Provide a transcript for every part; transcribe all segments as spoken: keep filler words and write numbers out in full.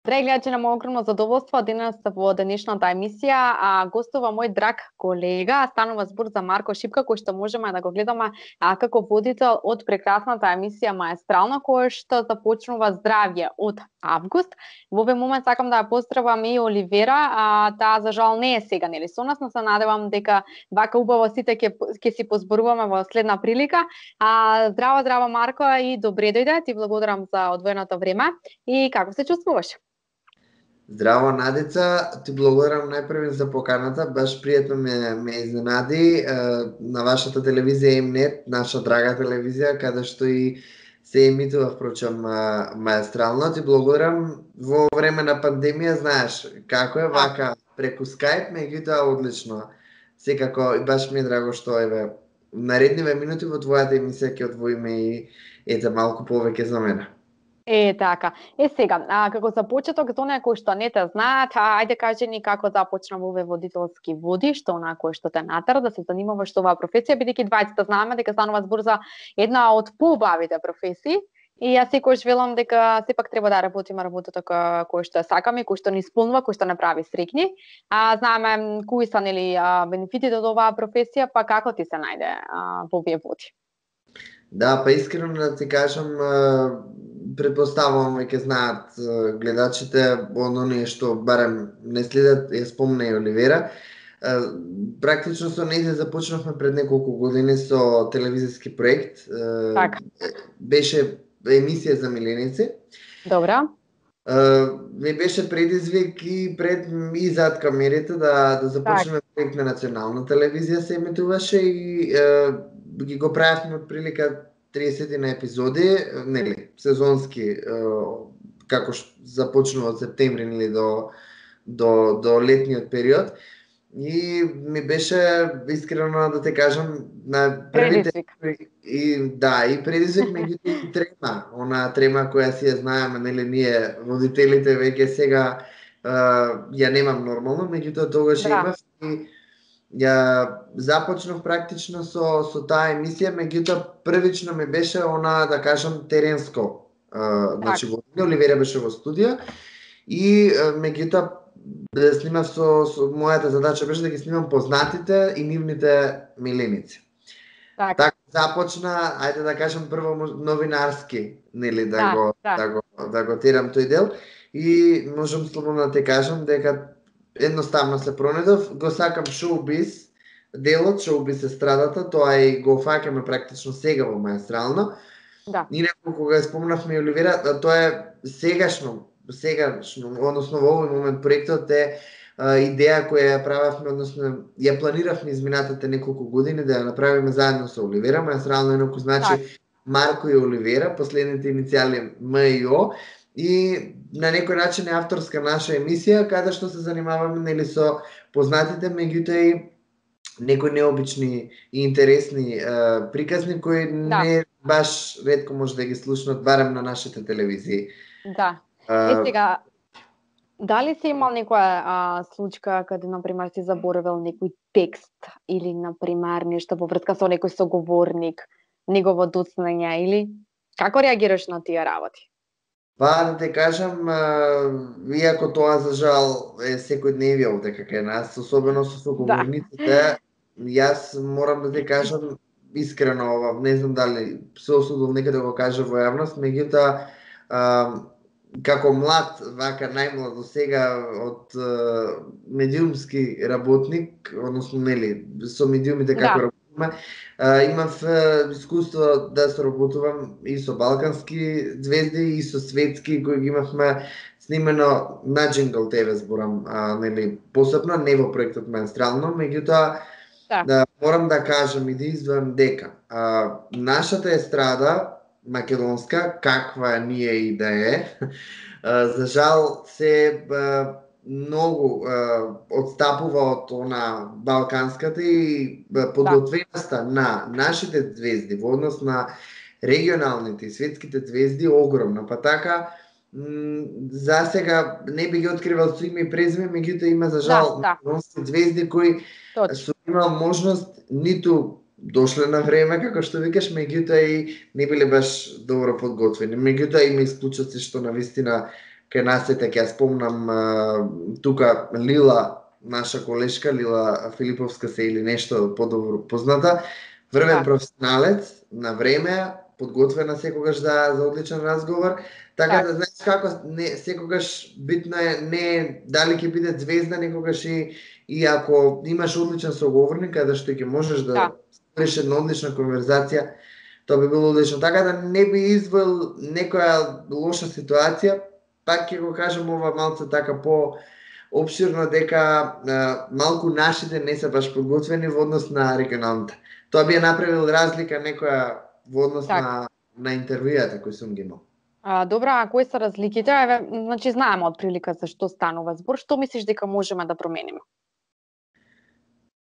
Драги гледачи, на мој огромно задоволство денес во денешната емисија а, гостува мој драг колега, станува збор за Марко Шипка, кој што можеме да го гледаме а, како водител од прекрасната емисија Маестрално, кој што започнува здравје од август. Во овој момент сакам да ја поздравам и Оливера, а, таа за жал не е сега нели со нас, но се надевам дека вака убаво сите ќе ќе си позборуваме во следна прилика. А, здраво, здраво Марко и добре дојде, ти благодарам за одвоеното време и како се чувствуваш? Здраво, Надица, ти благодарам најпрви за поканата, баш пријатно ме, ме изненади е, на вашата телевизија М-нет, наша драга телевизија, каде што и се емитува, впрочем, Маестрално. Ти благодарам во време на пандемија, знаеш како е вака преку Skype, меѓутоа одлично. Секако, и баш ми е драго што еве наредниве минути во твојата емисија ќе одвоиме и ете малку повеќе за мене. Е, така. Е, сега, а, како за почеток, за оние кои што не те знаат, а, ајде кажи ни како започна во овој водителски води, што онаа кој што те натера да се занимаваш со оваа професија, бидејќи двајцата знаеме дека станува збор за една од поубавите професии. И јас секогаш велам дека сепак треба да работиме работата кој што ја сакаме, кој што ни исполнува, кој што не прави среќни. А знаеме кои се нели бенефитите од оваа професија, па како ти се најде а, во овие води? Да, па искрено да ти кажам, предпоставувам веќе знаат гледачите оние што барем не следат, ја спомна и Оливера. Практично со нејзе започнавме пред неколку години со телевизиски проект. Так. Беше емисија за миленици. Добра. Ми беше предизвик и пред и зад камерите да да започнеме так. Проект на национална телевизија се емитуваше и е, ги го правевме од прилика триесет на епизоди, нели, сезонски, како започнува од септември нели до до до летниот период. И ми беше искрено да те кажам на првите и да, и предизвик меѓутоа и трема, она трема која си ја знаеме нели ние водителите веќе сега ја немам нормално, меѓутоа тогаш да. Имав и ја започнав практично со со таа емисија, меѓутоа првично ми беше она да кажам теренско. Uh, значи во Оливера беше во студија и uh, меѓутоа да снимав со, со мојата задача беше да ги снимам познатите и нивните миленици. Так. Така започна, ајде да кажам прво новинарски, нели да, да го да. да го да го терам тој дел и можам слободно да те кажам дека едноставно се пронедов, го сакам шоу-биз, делот шоу-биз естрадата, тоа и го фаќаме практично сега во Маестрално. Да. Инаку кога спомнавме Оливера, тоа е сегашно, сегашно, односно во овој момент проектот е а, идеја која ја правевме, односно ја планиравме изминатите неколку години да ја направиме заедно со Оливера. Маестрално инаку значи так. Марко и Оливера, последните иницијали М и О. И на некој начин е авторска наша емисија, каде што се занимаваме нели со познатите, меѓутоа и некои необични и интересни е, приказни кои да. Не баш ретко може да ги слушнат барем на нашите телевизии. Да. Е сега, дали си имал некоја а, случка каде например си заборавил некој текст или например нешто во врска со некој соговорник, негово доцнење или како реагираш на тие работи? Па да те кажам, иако тоа за жал е секојдневие овде кај нас, особено со соговорниците, да. Јас морам да те кажам искрено ова, не знам дали се осудил некаде да го кажа во јавност, меѓутоа како млад, вака најмлад до сега од медиумски работник, односно нели со медиумите како да. Работиме, имав искуство да соработувам и со балкански звезди и со светски кои ги имавме снимено на Джингл ТВ зборам, а, нели посебно не во проектот Маестрално, меѓутоа да. Да, морам да кажам и да издвојам дека а, нашата естрада македонска, каква ние и да е, а, за жал се а, многу а, одстапува од она балканската и подготвеноста да. На нашите звезди во однос на регионалните и светските звезди огромна, па така за сега не би ги откривал со име и презиме, меѓутоа има за жал да, да. Звезди кои со имал можност ниту дошле на време, како што викаш, меѓутоа и не биле баш добро подготвени. Меѓутоа има исклучоци што навистина кај нас ете ќе ја спомнам а, тука Лила, наша колешка Лила Филиповска се или нешто подобро позната, врвен Да. професионалец, на време, подготвена секогаш за за одличен разговор, така Так. да знаеш како не секогаш битно е не дали ќе биде звезда, некогаш и и ако имаш одличен соговорник каде што ќе можеш да Да. ствариш една одлична конверзација, тоа би било одлично. Така да не би извоил некоја лоша ситуација, пак ќе го кажам ова малце така по обширно дека а, малку нашите не се баш подготвени во однос на регионалните. Тоа би ја направил разлика некоја во однос Так. на на интервјуата кои сум ги имал. А, добра, а кои се разликите? Еве, значи знаеме од прилика за што станува збор. Што мислиш дека можеме да промениме?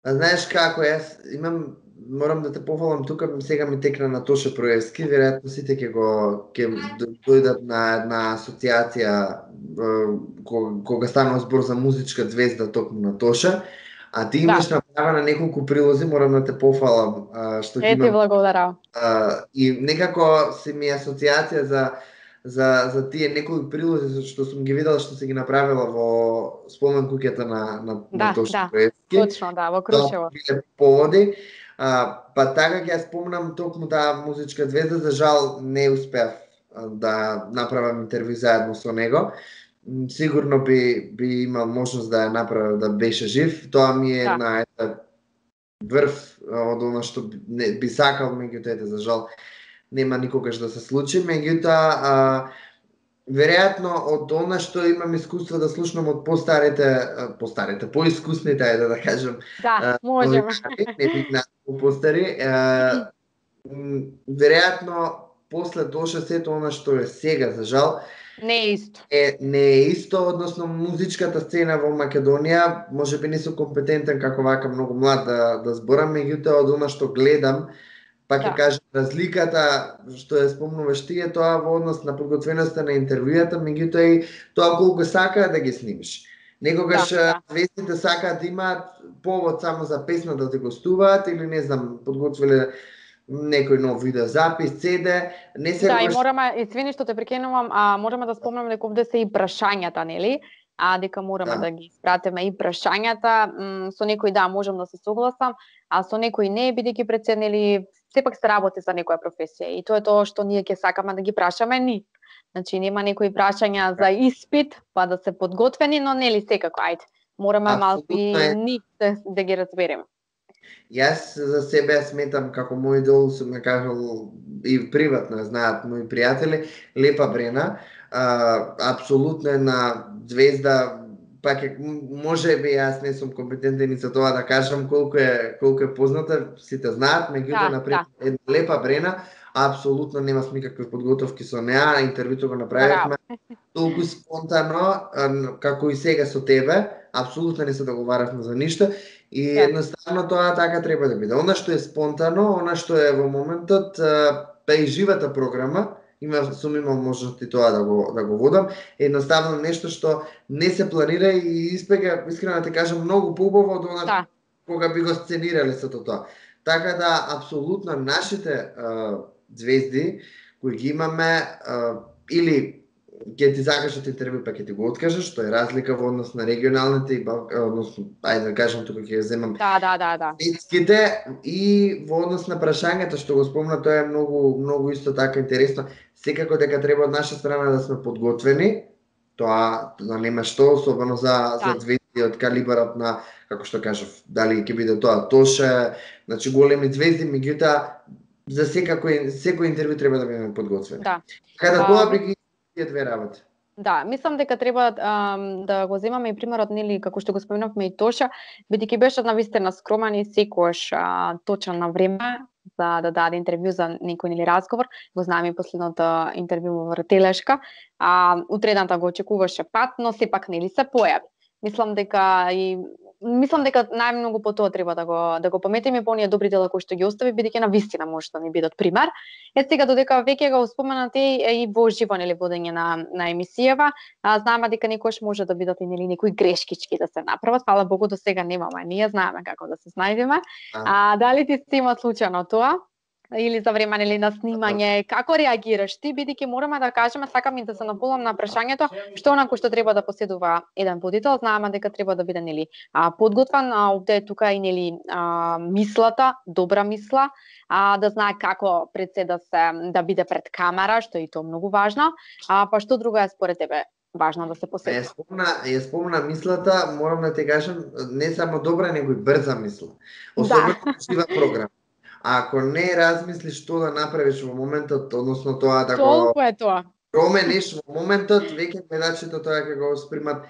А знаеш како, јас имам, морам да те пофалам тука, сега ми текна на Тоша Проевски, веројатно сите ќе го ќе дојдат на една асоциација кога, кога станува збор за музичка звезда токму на Тоша, а ти имаш Да. направена неколку прилози, морам да те пофалам а, што ги Е, ти имам. благодарам. А, и некако се ми асоциација за за за тие некои прилози што сум ги видел што се ги направила во спомен куќата на на, Да, на Тоша да. Проевски. Точно, да, во Крушево. Тоа биле поводи. А, па така ќе ја спомнам токму таа музичка звезда, за жал не успеав а, да направам интервју заедно со него. М, Сигурно би би имал можност да ја направам да беше жив. Тоа ми е Да. една ета врв а, од она што би- не би сакал, меѓутоа ете за жал нема никогаш да се случи. Меѓутоа а, веројатно од она што имам искуство да слушнам од постарите, а, постарите, поискусните, ајде да кажам, Да, а, можеме. новинари, не бих најмногу постари, а, м, веројатно после Тоша сето она што е сега, за жал, Не е исто. е не е исто, односно музичката сцена во Македонија, можеби не сум компетентен како вака многу млад да да зборам, меѓутоа од она што гледам, пак ќе Да. кажам разликата што ја спомнуваш ти е тоа во однос на подготвеноста на интервјуата, меѓутоа и тоа колку сакаат да ги снимиш. Некогаш Да, да. звездите сакаат да имаат повод само за песна да те гостуваат или не знам, подготвиле некој нов видеозапис, си ди, не Да, и секогаш мораме, извини што те прекинувам, а можеме да спомнеме дека овде се и прашањата, нели? А дека мораме Да. да, ги испратиме и прашањата, м, со некои да, можам да се согласам, а со некои не, бидејќи пред се, нели, сепак се работи за некоја професија и тоа е тоа што ние ќе сакаме да ги прашаме ни. Значи нема некои прашања за испит, па да се подготвени, но нели секако, ајде, мораме малку апсолутно и е. ни да, да ги разбереме. Јас за себе ја сметам како мој идол, сум ја кажал и приватно ја знаат мои пријатели, Лепа Брена, а, апсолутно една звезда, пак е, може би јас не сум компетентен и за тоа да кажам колку е колку е позната, сите знаат, меѓутоа Да, на пример да. една Лепа Брена, апсолутно немав никакви подготовки со неа, интервјуто го направивме толку спонтано, а, како и сега со тебе, апсолутно не се договаравме за ништо и Да. едноставно тоа така треба да биде. Она што е спонтано, она што е во моментот, а, па и живата програма, има сум имал можност и тоа да го да го водам, едноставно нешто што не се планира и испега, искрено да те кажам, многу поубаво од она Да. кога би го сценирале сето тоа. Така да апсолутно нашите а, звезди кои ги имаме а, или ќе ти закажат интервју па ќе ти го откажеш, што е разлика во однос на регионалните и бал... односно, ајде да кажам тука ќе ја земам Да, да, да, да. светските и во однос на прашањата што го спомна, тоа е многу многу исто така интересно. Секако дека треба од наша страна да сме подготвени, тоа да нема што, особено за Да. за звезди од калибарот на, како што кажав, дали ќе биде тоа Тоша, значи големи звезди, меѓутоа за секако секој интервју треба да бидеме подготвени. Да. Така да А, тоа ми- би ги тие две работи. Да, мислам дека треба ам, да го земаме и примерот, нели, како што го споменавме и Тоша, бидејќи беше навистина скромен и секогаш а, точен на време за да даде интервју за некој нели разговор. Го знаеме и последното интервју во Вртелешка. А утредната го очекуваше пат, но сепак нели се појави. Мислам дека и мислам дека најмногу по тоа треба да го да го паметиме по оние добри дела кои што ги остави, бидејќи навистина може да ни бидат пример. Е сега додека веќе го споменате и, и во живо нели водење на на емисијава, а, знаеме дека некојаш може да бидат и нели некои грешкички да се направат. Фала Богу до сега немаме. Ние знаеме како да се снајдеме. А, А дали ти се има случајно тоа? или за време или на снимање, како реагираш ти, бидејќи мораме да кажеме, сакам и да се наполам на прашањето, што онако што треба да поседува еден водител, знаеме дека треба да биде нели а, подготвен, а овде е тука и нели а, мислата, добра мисла, а да знае како пред се да се да биде пред камера, што е и тоа многу важно. А па што друго е според тебе важно да се поседува? Ја спомна, ја спомна мислата, морам да ти кажам, не само добра, него и брза мисла. Особено да. Жива програма. Ако не размислиш што да направиш во моментот, односно тоа да го Толку е тоа. промениш во моментот, веќе гледачите тоа ќе го спримат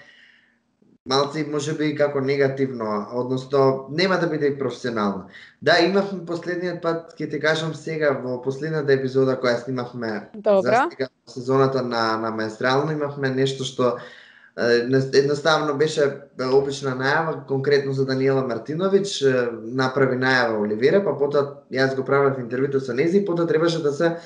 малци можеби како негативно, односно нема да биде и професионално. Да, имавме последниот пат, ќе ти кажам сега, во последната епизода која снимавме Добра. за сега сезоната на на Маестрално, имавме нешто што едноставно беше обична најава, конкретно за Даниела Мартиновиќ, направи најава Оливера, па потоа јас го правев интервјуто со нејзи, потоа требаше да се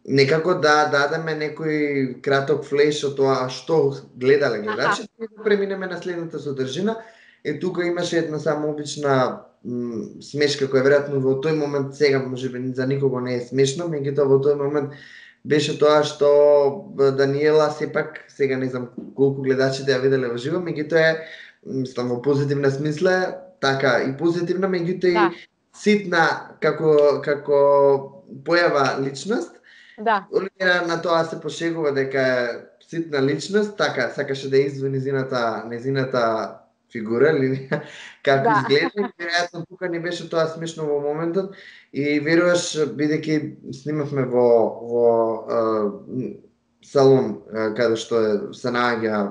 некако да дадеме некој краток флеш од тоа што гледале гледачите и да преминеме на следната содржина. Е тука имаше една само обична м, смешка која веројатно во тој момент сега можеби за никого не е смешно, меѓутоа во тој момент беше тоа што Даниела сепак, сега не знам колку гледачите ја виделе во живо, меѓутоа е мислам во позитивна смисла, така и позитивна, меѓутоа Да. и ситна како како појава личност. Да. Оливера на тоа се пошегува дека е ситна личност, така сакаше да извини незината незината фигура или како Да. изгледа, веројатно тука не беше тоа смешно во моментот и веруваш бидејќи снимавме во во е, салон е, каде што е се наоѓа,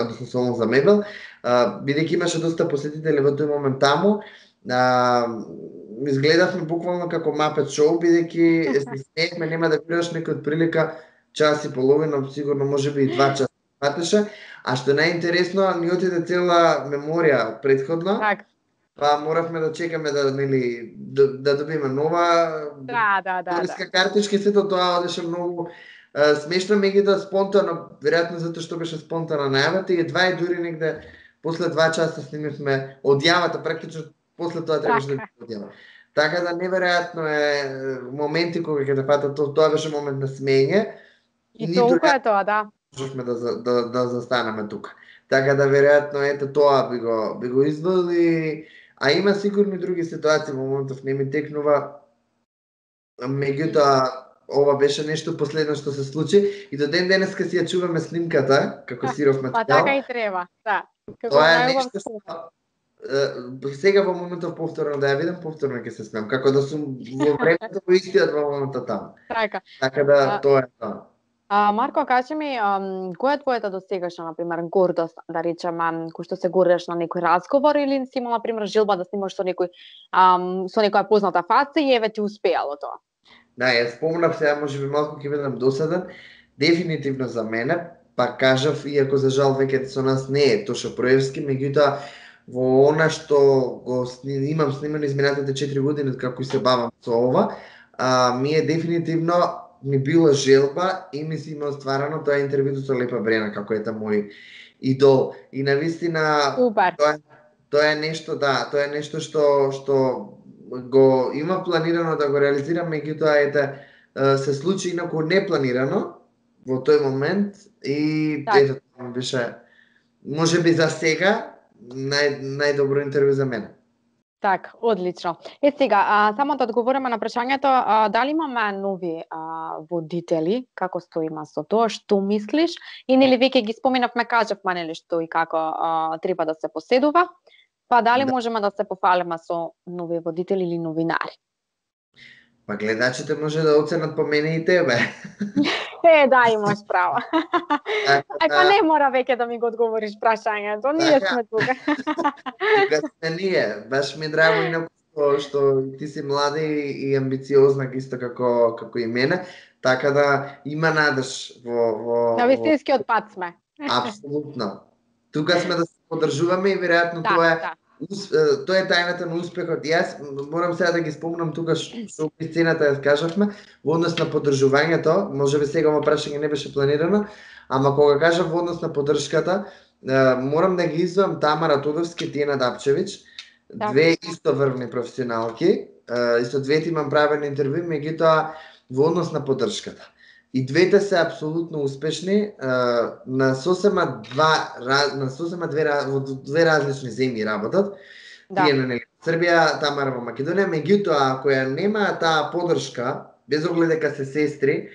односно салон за мебел, е, бидејќи имаше доста посетители во тој момент таму, е, изгледавме буквално како Мапет шоу, бидејќи се смеевме, нема да веруваш некој од прилика час и половина, сигурно можеби и два часа фатеше, а што најинтересно, ни отиде цела меморија предходно. Так. Па моравме да чекаме да нели да, да добиеме нова Да, да, да, туристка да. картичка и сето тоа одеше многу е, смешно, меѓутоа спонтано, веројатно затоа што беше спонтана најавата и едва и дури негде после два часа снимивме одјавата, практично после тоа требаше да биде одјава. Така да неверојатно е моменти кога ќе те фатат, тоа, тоа беше момент на смење. И толку е тоа, да. Можевме да, да, да застанеме тука. Така да веројатно ете тоа би го би го извели, а има сигурно и други ситуации во моментов не ми текнува. Меѓутоа ова беше нешто последно што се случи и до ден денеска си ја чуваме снимката како сиров материјал. Па така и треба, да. Како Тоа е најубав нешто што е, сега во моментов повторно да ја видам, повторно ќе се смеам, како да сум во времето во истиот во моментот таму. Така. Така да А, тоа е тоа. А, Марко, кажи ми, ам, која е твојата досегашна, например, гордост, да речеме, кој што се гордеш на некој разговор или си имал, например, желба да снимаш со некој, ам, со некоја позната фаца и еве ти успеало тоа? Да, ја спомнав сега, можеби малку ќе бидам досаден, дефинитивно за мене, па кажав, иако за жал веќе со нас не е Тоша Проевски, меѓутоа во она што го сни, имам снимано изминатите четири години како и се бавам со ова, а, ми е дефинитивно ми била желба и ми си има остварано тоа интервјуто со Лепа Брена, како ета мој идол. И навистина Супер. тоа, тоа е нешто, да, тоа е нешто што што го има планирано да го реализирам, меѓутоа ете се случи инаку непланирано во тој момент и Так. ето тоа беше можеби за сега нај најдобро интервју за мене. Так, одлично. Е сега, а, само да одговориме на прашањето, а, дали имаме нови а, водители, како стоиме со тоа, што мислиш? И нели веќе ги споменавме, кажавме нели што и како а, треба да се поседува, па дали Да. можеме да се пофалиме со нови водители или новинари? Па гледачите може да оценат по мене и тебе. Е, да, имаш право. Така Ај, па да- не мора веќе да ми го одговориш прашањето, ние Така. сме тука. Тука сме ние. Баш ми е драго инаку што, што ти си млада и, и амбициозна исто како како и мене, така да има надеж во во На во- вистинскиот пат сме. апсолутно. Тука сме да се поддржуваме и веројатно Да, тоа е да. ус- е, тоа е тајната на успехот. Јас морам сега да ги спомнам тука ш- што при сцената ја кажавме во однос на поддржувањето, можеби сега ова прашање не беше планирано, ама кога кажав во однос на поддршката, е, морам да ги издвоам Тамара Тодорски и Тиена Дапчевиќ, Да. две истоврвни професионалки, и со двете имам правен интервју, меѓутоа во однос на поддршката. И двете се апсолутно успешни, на сосема два на сосема две во две различни земји работат. Да. Тие на нели Србија, Тамара во Македонија, меѓутоа ако ја нема таа поддршка, без оглед дека се сестри,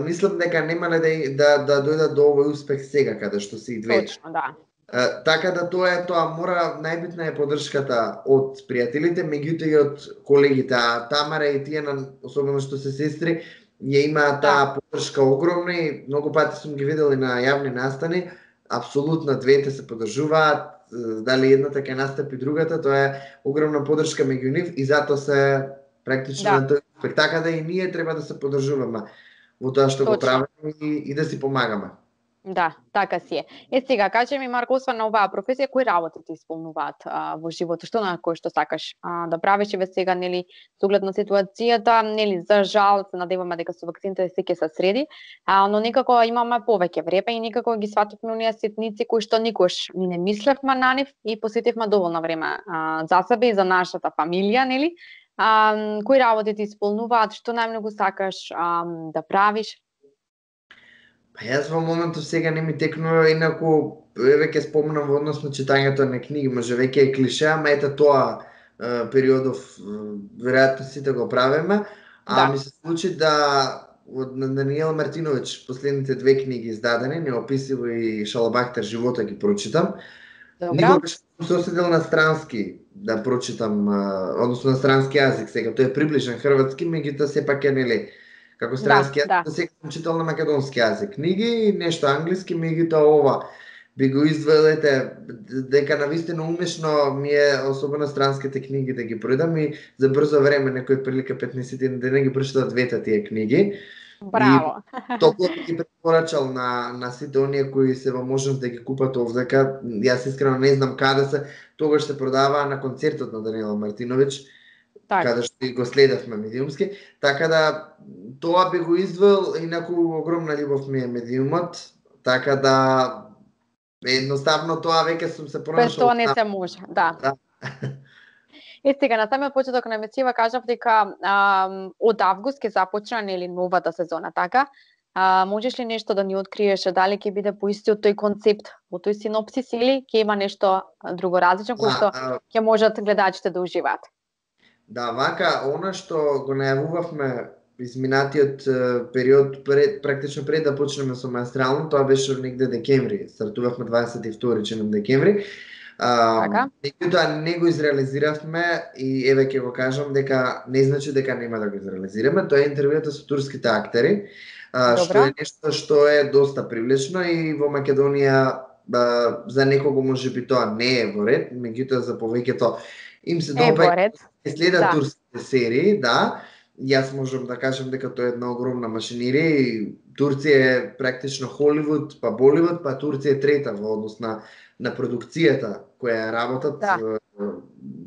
мислам дека немале да да да дојдат до овој успех сега каде што се и двете. Точно, да. Uh, така да тоа е тоа, мора најбитна е поддршката од пријателите, меѓутоа и од колегите, а Тамара и тие, особено што се сестри, ја има таа поддршка огромна и многу пати сум ги видел и на јавни настани, апсолутно двете се поддржуваат, дали едната ќе настапи другата, тоа е огромна поддршка меѓу нив и затоа се практично на тој успех. Така да и ние треба да се поддржуваме во тоа што го правиме и, и да си помагаме. Да, така си е. Е сега, кажи ми, Марко, освен на оваа професија, кои работи ти исполнуваат а, во животот? Што на кој што сакаш а, да правиш и ве сега, нели, со оглед на ситуацијата, нели, за жал, се надеваме дека со вакцините се ќе се среди, а, но некако имаме повеќе време и некако ги свативме оние ситници кои што никош ни не мислевме на нив и посветивме доволно време а, за себе и за нашата фамилија, нели? А, кои работи ти исполнуваат, што најмногу сакаш а, да правиш? Па јас во моментов сега не ми текнува, инаку еве ќе спомнам во однос на читањето на книги, може веќе е клише, ама ете тоа е, периодов веројатно сите го правиме, а да. Ми се случи да од Даниел Мартиновиќ последните две книги издадени, Неописиво и Шалабахтер живота ги прочитам. Никогаш сум се оседил на странски да прочитам, односно на странски јазик сега, тој е приближен хрватски, меѓутоа сепак е нели како странски јазик, да сега сум читал на македонски јазик книги и нешто англиски, меѓутоа ова би го издвоилете дека навистина умешно ми е, особено странските книги да ги проидам и за брзо време, некој прилика петнаесет дена ги прочитав двете тие книги. Браво! И топло ги препорачал на, на сите оние кои се во можност да ги купат овдека. Јас искрено не знам каде се, тогаш се продаваа на концертот на Даниела Мартиновиќ, так. Каде што го следевме медиумски, така да тоа би го издвоил, инаку огромна љубов ми е медиумот, така да едноставно тоа веќе сум се пронашол. Без тоа не се може, да. Да. Е, сега, на самиот почеток на емисија кажав дека а, од август ќе започне нели новата сезона, така? А, можеш ли нешто да ни откриеш, дали ќе биде по истиот тој концепт, во тој синопсис или ќе има нешто друго различно кој што ќе можат гледачите да уживаат? Да, вака, она што го најавувавме изминатиот период, пред, практично пред да почнеме со менструално, тоа беше негде декември, стартувавме дваесет и втори чинам декември. Меѓутоа не го изреализиравме и еве ќе го кажам дека не значи дека нема да го изреализираме, тоа е интервјуата со турските актери, а, што е нешто што е доста привлечно и во Македонија а, за некого можеби тоа не е во ред, меѓутоа за повеќето им се допаѓа да следат да. турските серии, да. Јас можам да кажам дека тоа е една огромна машинерија и Турција е практично Холивуд, па Боливуд, па Турција е трета во однос на на продукцијата која работат. Да.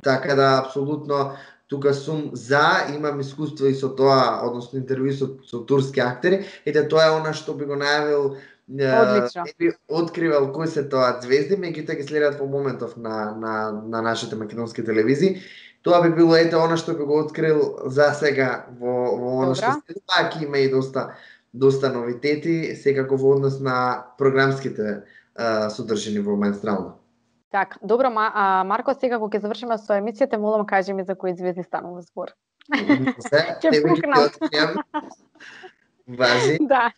Така да апсолутно тука сум за, имам искуство и со тоа, односно интервју со, со турски актери, ете тоа е она што би го најавил. Одлично. Не би откривал кои се тоа звезди, меѓутоа ги следат по моментов на на на нашите македонски телевизии. Тоа би било ете она што би го открил за сега во во она што се пак има и доста доста новитети секако во однос на програмските а, содржини во менструално. Так, добро, ма, а, Марко, сега кога ќе завршиме со емисијата, молам кажи ми за кои звезди станува збор. Се, ќе пукнам. Важи. Да.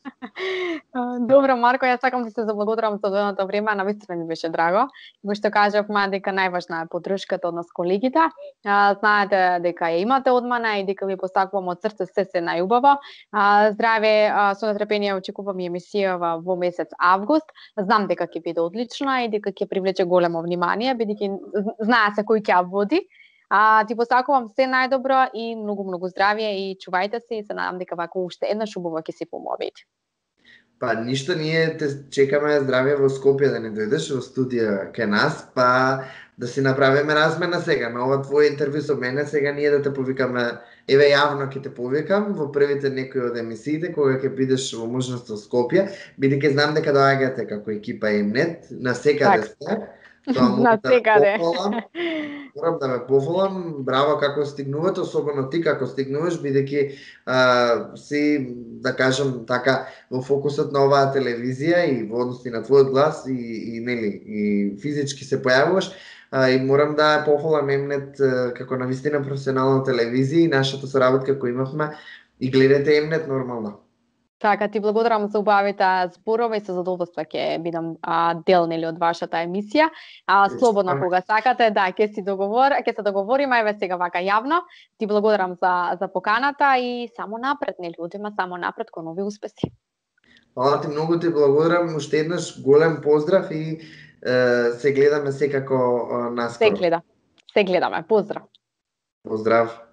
Добро, Марко, јас сакам да се заблагодарам за одвоеното време, навистина ми беше драго. Го што кажавме дека најважна е поддршката од нас колегите. Знаете дека ја имате од мене и дека ви постакувам од срце се се најубаво. Здраве, со нетрпение очекувам и емисија во месец август. Знам дека ќе биде одлична и дека ќе привлече големо внимание, бидејќи знае се кој ќе ја води. А, ти посакувам се најдобро и многу-многу здравје и чувајте се и се надам дека вака уште еднаш убаво ќе си помовите. Па ништо, ние те чекаме здравје во Скопје да не дојдеш во студија кај нас, па да си направиме размена сега на ова твое интервју со мене, сега ние да те повикаме, еве јавно ќе те повикам во првите некои од емисиите кога ќе бидеш во можност во Скопје, бидејќи знам дека доаѓате како екипа Емнет, на секаде сте. Тоа На секаде. Морам да ме пофалам, браво како стигнувате, особено ти како стигнуваш, бидејќи си, да кажам така, во фокусот на оваа телевизија и во односи на твојот глас и, и нели, и физички се појавуваш. А, и морам да пофалам Емнет како навистина професионална телевизија и нашата соработка која имавме и гледате Емнет нормално. Така, ти благодарам за убавите зборови и со задоволство ќе бидам а, дел нели од вашата емисија. А, слободно кога сакате, да, ќе си договор, ќе се договориме еве сега вака јавно. Ти благодарам за за поканата и само напред, нели, одиме само напред кон нови успеси. Фала ти многу, ти благодарам, уште еднаш голем поздрав и е, се гледаме секако наскоро. Се гледа. Се гледаме. Поздрав. Поздрав.